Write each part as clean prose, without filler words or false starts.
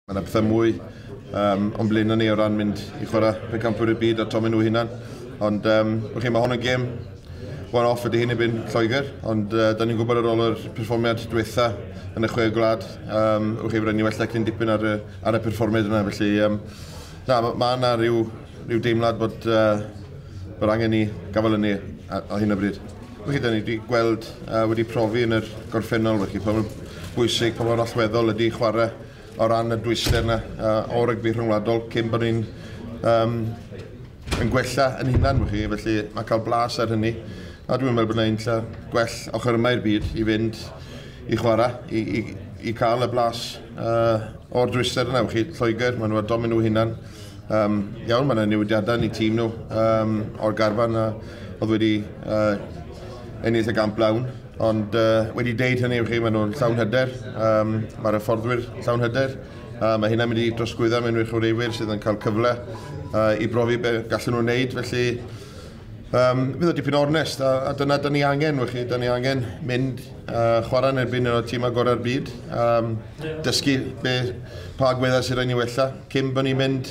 Mae yna pethau mwy o'n blaenau ni o ran mynd i chwarae pencampwyr y byd a tomen nhw hunan. Ond chi, mae hwn yn gêm one-off ydy hyn i byn Lloegr, ond da ni'n gwybod ar ôl yr perfformiad diwetha yn y chwe gwlad, chi, rhaid ni wella cyn dipyn ar y perfformiad yna. Felly, na, mae yna rhyw deimlad bod angen ni gafael yn ni ar hyn o bryd. Felly, da ni wedi gweld, wedi profi yn yr gorffennol, felly, pa mor bwysig, pa mor allweddol ydy chwarae o ran y dwyster yna o rygbi rhyngwladol cyn bod ni'n yn gwella yn hunan, chi, felly mae cael blas ar hynny. A dwi'n meddwl bod yna un lle gwell ochr yma i'r byd i fynd i chwarae, i cael y blas o'r dwyster yna. Chi, Lloegr, maen nhw ar domen nhw hunan. Iawn, mae yna newidiadau yn eu tîm nhw o'r garfan a oedd wedi ennill y gamp lawn. Ond wedi deud hynny, chi, maen nhw'n llawn hyder, mae'r hyfforddwyr llawn hyder. Mae hynna'n mynd i drosglwyddo mewn i'r chwaraewyr sydd yn cael cyfle i brofi be gallen nhw'n wneud. Felly, fydd o dipyn o ornest, a dyna da ni angen, chi, da ni angen mynd chwarae yn erbyn un o'r tîmau gorau'r byd, dysgu pa agweddau sydd rhaid ni wella cyn bod ni'n mynd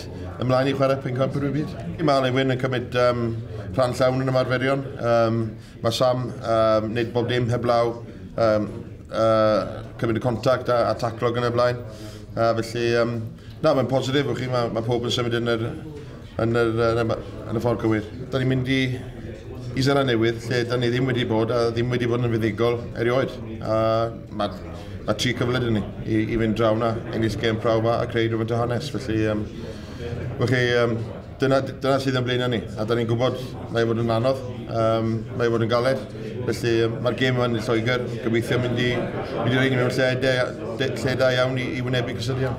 ymlaen i chwarae pencampwyr y byd. Mae Alun Wyn yn cymryd rhan llawn yn ymarferion. Mae Sam wneud bob dim heblaw, cymryd y contact a taclo yn y blaen. Felly, na, mae'n positif, chi, mae pob yn symud yn y ffordd cywir. Da ni'n mynd i Seland Newydd, lle da ni ddim wedi bod a ddim wedi bod yn fuddugol erioed. Mae tri cyfle dyn ni i fynd draw na, ennill gêm prawf a creu rhywbeth o hanes. Felly, dyna sydd yn blaenau ni, a da ni'n gwybod mae fod yn anodd, mae fod yn galed. Felly mae'r gêm yma yn Lloegr, gobeithio mynd i rhaid ni mewn lle da iawn i wynebu cysylltiad.